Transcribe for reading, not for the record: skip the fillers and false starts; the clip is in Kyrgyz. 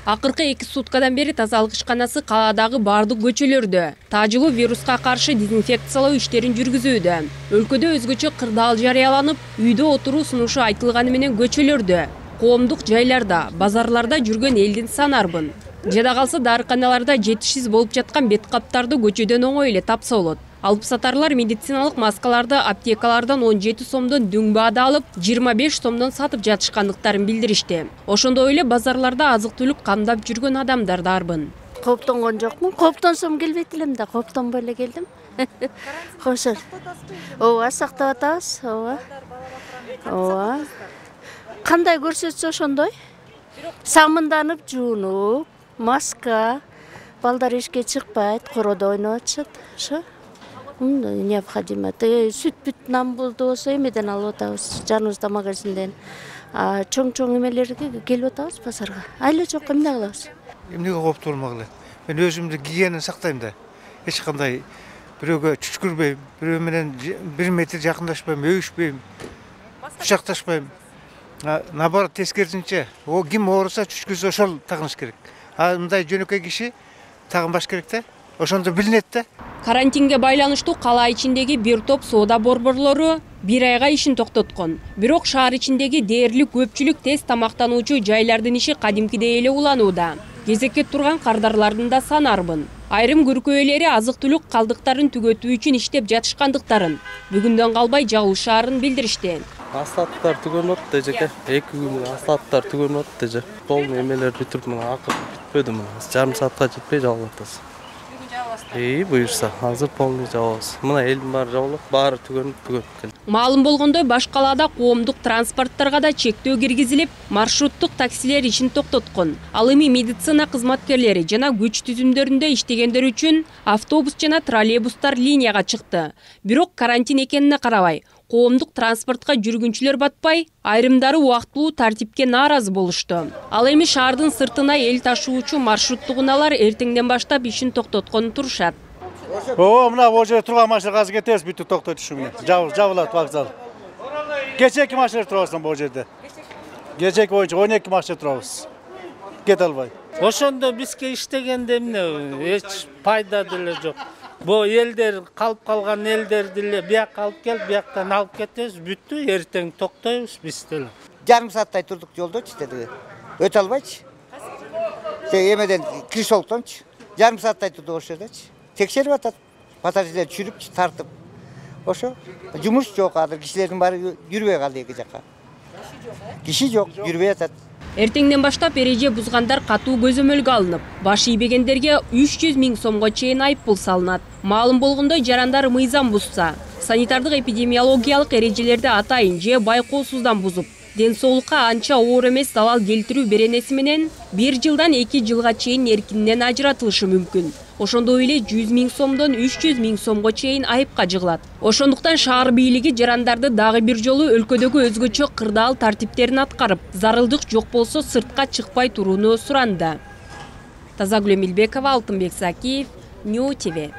Акыркы 2 суткадан бери тазалык ишканасы каладагы бардык көчөлөрдө таажылуу вируска каршы дезинфекциялоо иштерин жүргүзүүдө. Өлкөдө өзгөчө кырдаал жарыяланып, үйдө отуруу сунушу айтылганы менен көчөлөрдө, коомдук жайларда, базарларда жүргөн элдин саны арбын. Жада калса дарыканаларда жетишсиз болуп жаткан бет каптарды көчөдөн оңой эле тапса болот. Алып сатарлар медициналык маскаларды аптекалардан 17 сомдон дөң баада алып, 25 сомдон сатып жатышкандыктарын билдиришти. Ошондой эле базарларда азык-түлүк камдап жүргөн адамдар да арбын. Кооптонгон жокмун. Кооптонсом келбейт элем да, кооптонбой эле келдим. Кошор. Ооба, сактап атабыз. Ооба. Ооба. Кандай көрсөтсө ошондой. Самынданып жуунуп, маска, балдар эшикке чыкпайт, короодо ойноп атышат. Ошо необходимо. Сүт нан болду болсо эмеден алып атабыз, жаныбызда магазинден. Чоң эмелерге келип атабыз базарга. Айла жок, эмне кылабыз? Эмнеге кооптуу болмогула? Мен өзүмдү гигиенаны сактайм да. Эч кандай бирөөгө чүчкүрбөйм, бирөө менен 1 метр жакындашпайм, өбүшпөйм, кучакташпайм. Наоборот, тескерисинче, ким ооруса чүчкүрсө ошол тагыныш керек. Мындай жөнөкөй киши тагынбаш керек да. Ошондо билинет да. Карантинге байланыштуу кала ичиндеги бир топ соода борборлору 1 айга ишин токтоткон. Бирок шаар ичиндеги дээрлик көпчүлүк тез тамактануучу жайлардын иши кадимкидей эле уланууда. Кезекке турган кардарлардын да саны арбын. Айрым көркө ээлери азык-түлүк калдыктарын түгөтүү үчүн иштеп жатышкандыктарын бүгүндөн калбай жагылышаарын билдиришти. Асфальттар түгөнүп атты эжеке. 2 күн асфальттар түгөнүп атты эже. Полный эмелер бүтүп мына акыр бүтпөдү мына. Жарым саатка жетпей жабылып атабыз. Буюрса, азыр полный жабабыз. Мына элдин баары жабылып, баары түгөнүп келди. Маалым болгондой, баш калаада коомдук транспорттарга да чектөө киргизилип, маршруттук таксилер ишин токтоткон. Ал эми медицина кызматкерлери жана күч түзүмдөрүндө иштегендер үчүн автобус жана троллейбустар линияга чыкты. Бирок карантин экенине карабай, коомдук транспортко жүргүнчүлөр батпай, айрымдары убактылуу тартипке нааразы болушту. Ал эми шаардын сыртына эл ташуучу маршруттук унаалар эртеңден баштап ишин токтотконун турушат. Мына бул жерде турган машина азыр кетебиз, бүтүп токтойт ушу менен. Жабылат вокзал. Кечеки машина турабыз бул жерде. Кечеки боюнча 12 машина турабыз. Кете албай. Ошондо бизге иштегенде эмне эч пайда деле жок. Бу элдер калып калган элдерди эле бияка алып келип, бияктан алып кетебиз, бүттү, эртең токтойбуз биз деле. Жарым сааттай турдук жолдочу деди. Өтө албайчы. Эмеден Кришолтончу. Жарым сааттай турдук ошол жердечи. Текшерип атат. Пассажирлер чүрүп, тартып. Ошо жумуш жок, азыр кишилердин баары жүрбөй калды эки жакка. Киши жок, жүрбөй атат. Эртеңден баштап эреже бузгандар катуу көзөмөлгө алынып, баш ийбегендерге 300 000 сомго чейин айыппул салынат. Маалым болгондой, жарандар мыйзам бузса, санитардык эпидемиологиялык эрежелерди атайын же байкоосуздан бузуп, ден соолукка анча оор эмес залал келтирүү беренеси менен 1 жылдан 2 жылга чейин эркинен ажыратылышы мүмкүн. Ошондой эле 100 000 сомдон 300 000 сомго чейин айыпка жыгылат. Ошондуктан шаар бийлиги жарандарды дагы бир жолу өлкөдөгү өзгөчө кырдаал тартиптерин аткарып, зарылдык жок болсо сыртка чыкпай турууну суранды. Тазагүл Эмилбекова, Алтынбек Закиев, Нью ТВ.